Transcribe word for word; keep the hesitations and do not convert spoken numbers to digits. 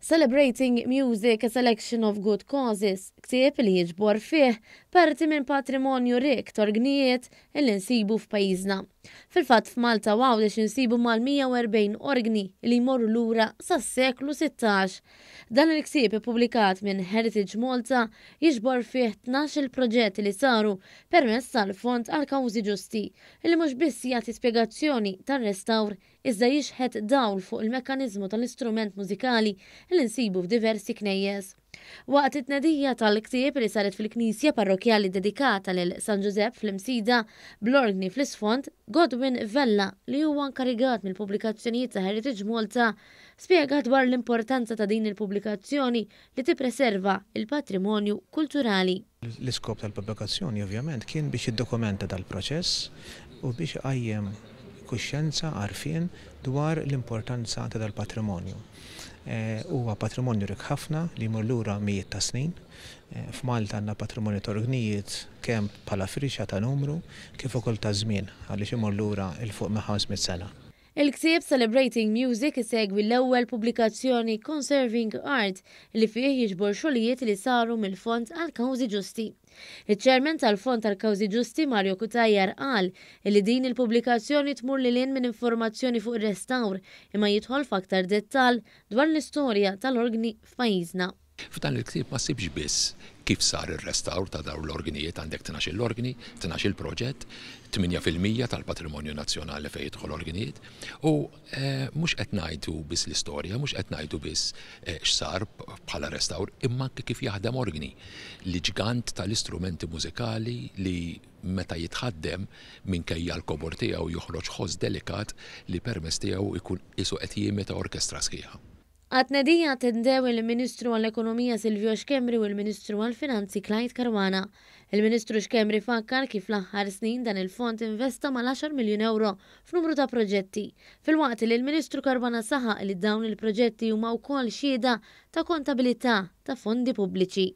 Celebrating Music, a Selection of Good Causes, ktieb li jiġbor fih parti minn patrimonju rik t'orgnijiet li nsibu f'pajjiżna. Fil-fatt, f'Malta u Għawdex insibu mal-mija u erbgħin organi li jmorru lura sas-seklu sittax. Dan il-ktieb, ippubblikat minn Heritage Malta, jiġbor fih tnax-il proġett li saru permezz tal-Fond għal Kawżi Ġusti, li mhux biss jagħti spjegazzjoni tar-restawr iżda jixħet dawl fuq il-mekkaniżmu tal-istrument mużikali li nsibu f'diversi knejjes. Waqt it-tnedija tal-ktieb li saret fil-Knisja Parrokjali dedikata lil San Ġużepp fl-Imsida, bl-organi fl-isfond, Godwin Vella, li huwa inkarigat mill-pubblikazzjonijiet ta' Heritage Malta, spjega dwar l-importanza ta' din il-pubblikazzjoni li tippreserva il-patrimonju kulturali. L-iskop tal-pubblikazzjoni ovvjament kien biex jiddokumenta dal-proċess u biex iqajjem kuxjenza, għarfien dwar l-importanza ta' dal-patrimonju. Eh, huwa patrimonju rik ħafna li jmur lura mijiet ta' snin. Eh, F'Malta għandna patrimonju ta' orgnijiet kemm bħala firxa ta' numru kif ukoll ta' żmien, għaliex imur lura 'l fuq minn ħames mitt sena. Il-ktieb Celebrating Music isegwi l-ewwel pubblikazzjoni Conserving Art, li fih jiġbor xogħlijiet li saru mill-Fond għal Kawżi Ġusti. Iċ-Chairman tal-Fond għal Kawżi Ġusti, Mario Cutajar, qal li din il-pubblikazzjoni tmur lil hinn minn informazzjoni fuq ir-restawr imma jidħol f'aktar dettall dwar l-istorja tal-organi f'pajjiżna. F'dan il-ktieb ma ssibx biss kif sar ir-restawr ta' dawn l-organijiet. Għandek tnax-il organi, tnax-il proġett, tmienja fil-mija tal-patrimonju nazzjonali fejn jidħol organijiet, u eh, mhux qed ngħidu biss l-istorja, mhux qed ngħidu biss eh, x'sar bħala restawr, imma anke kif jaħdem organi. Li ġgant tal-istrumenti mużikali li meta jitħaddem, minkejja l-kobor tiegħu, joħroġ ħoss delikat li permezz tiegħu jkun qisu qed jimita orkestra sħiħa. Għat-tnedija attendew il-Ministru għall-Ekonomija Silvio Schembri u l-Ministru għall-Finanzi Clyde Caruana. Il-Ministru Schembri fakkar kif l-aħħar snin dan il-fond investa mal-għaxar miljun euro f'numru ta' proġetti. Filwaqt li l-Ministru Caruana saħaq li dawn il-proġetti huma wkoll xhieda ta' kontabilità ta' fondi pubbliċi.